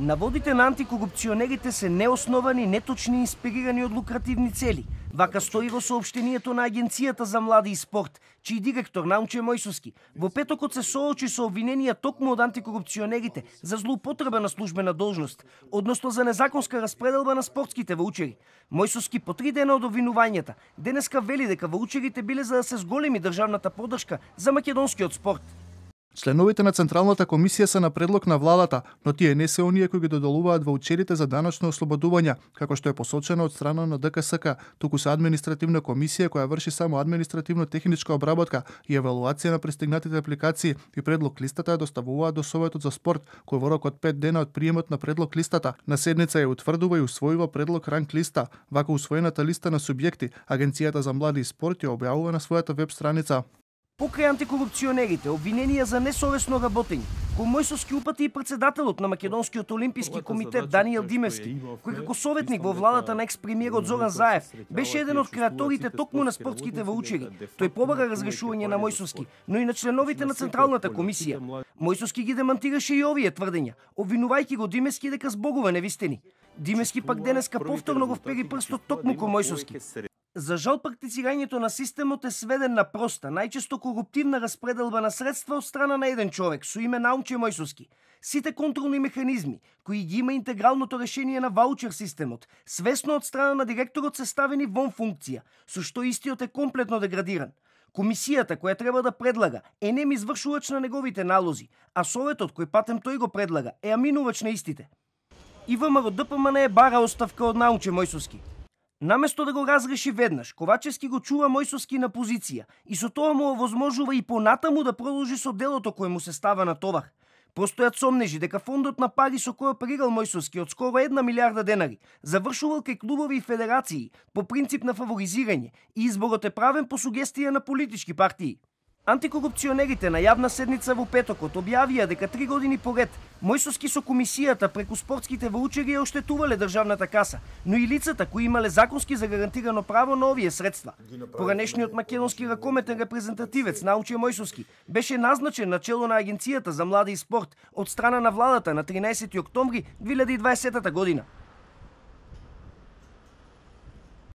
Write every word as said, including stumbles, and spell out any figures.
Наводите на антикорупционерите се неосновани, неточни и инспирирани од лукративни цели. Вака стои во соопштението на Агенцијата за млади и спорт, чиј директор Наумче Мојсовски во петокот се соочи со обвиненија токму од антикорупционерите за злоупотреба на службена должност, односно за незаконска распределба на спортските ваучери. Мојсовски по три дена од обвинувањата денеска вели дека ваучерите биле за да се зголеми државната поддршка за македонскиот спорт. Членовите на Централната комисија се на предлог на владата, но тие не се оние кои ги додолуваат ваучерите за даночно ослободување, како што е посочено од страна на ДКСК, туку се административна комисија која врши само административно-техничка обработка и евалуација на пристигнатите апликации и предлог листата ја доставуваат до Советот за спорт, кој во рок од пет дена од приемот на предлог листата на седница ја утврдува и усвојува предлог ранг листа. Вака усвоената листа на субјекти, Агенцијата за млади и спорт ја објавува на својата веб страница. Покрај антикорупционерите, обвиненија за несовесно работење, кој Мојсовски упати и председателот на Македонскиот олимписки комитет Даниел Димевски, кој како советник во владата на екс-премиерот Зоран Заев беше еден од креаторите токму на спортските ваучери. Тој побара разрешување на Мојсовски, но и на членовите на Централната комисија. Мојсовски ги демантираше и овие тврдења, обвинувајќи го Димевски дека збогува невистини. Димевски пак денеска повторно го впери прстот токму кон Мојсовски. За жал, практицирањето на системот е сведен на проста, најчесто коруптивна распределба на средства од страна на еден човек со име Наумче Мојсовски. Сите контролни механизми, кои ги има интегралното решение на ваучер системот, свесно од страна на директорот се ставени вон функција, со што истиот е комплетно деградиран. Комисијата која треба да предлага е нем извршувач на неговите налози, а советот кој патем тој го предлага е аминувач на истите. И ВМРО Д П М Н е бара оставка од Наумче Мојсовски. Наместо да го разреши веднаш, Ковачевски го чува Мојсовски на позиција и со тоа му овозможува и понатаму да продолжи со делото кое му се става на товар. Постојат сомнежи дека фондот на пари со кој оперирал Мојсовски од скоро една милиарда денари завршувал кај клубови и федерации по принцип на фаворизирање и изборот е правен по сугестија на политички партии. Антикорупционерите на јавна седница во петокот објавија дека три години поред Мојсовски со комисијата преку спортските ваучери ја оштетувале државната каса, но и лицата кои имале законски загарантирано право на овие средства. Поранешниот македонски ракометен репрезентативец Наумче Мојсовски беше назначен на чело на Агенцијата за млади и спорт од страна на владата на тринаесети октомври две илјади и дваесетта година.